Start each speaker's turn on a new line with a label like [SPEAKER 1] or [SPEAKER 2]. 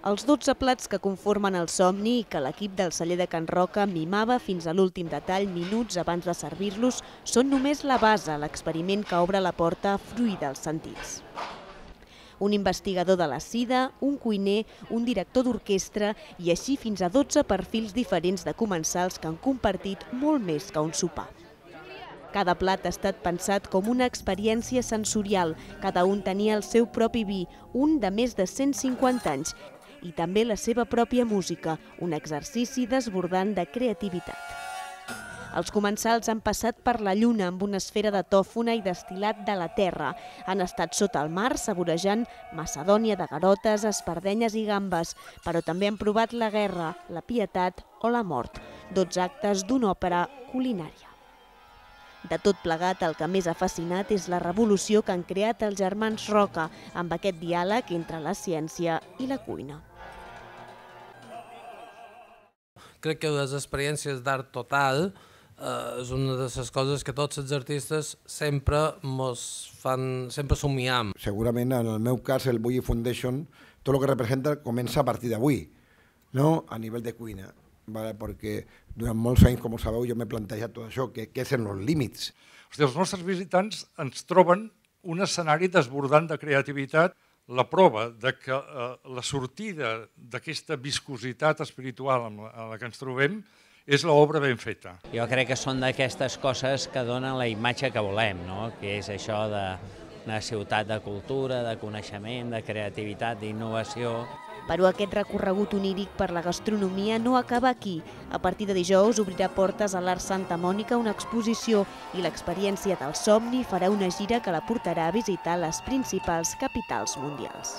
[SPEAKER 1] Els 12 plats que conformen el somni i que l'equip del celler de Can Roca mimava fins a l'últim detall minuts abans de servir-los són només la base a l'experiment que obre la porta a fruir dels sentits. Un investigador de la SIDA, un cuiner, un director d'orquestra i així fins a 12 perfils diferents de comensals que han compartit molt més que un sopar. Cada plat ha estat pensat com una experiència sensorial. Cada un tenia el seu propi vi, un de més de 150 anys, i també la seva pròpia música, un exercici desbordant de creativitat. Els comensals han passat per la lluna amb una esfera de tòfona i destil·lat de la terra. Han estat sota el mar saborejant macedònia de garotes, espardenyes i gambes, però també han provat la guerra, la pietat o la mort, 12 actes d'una òpera culinària. De tot plegat, el que més ha fascinat és la revolució que han creat els germans Roca amb aquest diàleg entre la ciència i la cuina.
[SPEAKER 2] Crec que les experiències d'art total és una de les coses que tots els artistes sempre somiam.
[SPEAKER 3] Segurament, en el meu cas, el Bulli Foundation, tot el que representa comença a partir d'avui, no? A nivell de cuina. Perquè durant molts anys, com ho sabeu, jo m'he plantejat tot això, què són els límits.
[SPEAKER 4] Els nostres visitants ens troben un escenari desbordant de creativitat, la prova que la sortida d'aquesta viscositat espiritual en la que ens trobem és l'obra ben feta.
[SPEAKER 5] Jo crec que són d'aquestes coses que donen la imatge que volem, que és això d'una ciutat de cultura, de coneixement, de creativitat, d'innovació.
[SPEAKER 1] Però aquest recorregut oníric per la gastronomia no acaba aquí. A partir de dijous obrirà portes a l'Art Santa Mònica una exposició i l'experiència del somni farà una gira que la portarà a visitar les principals capitals mundials.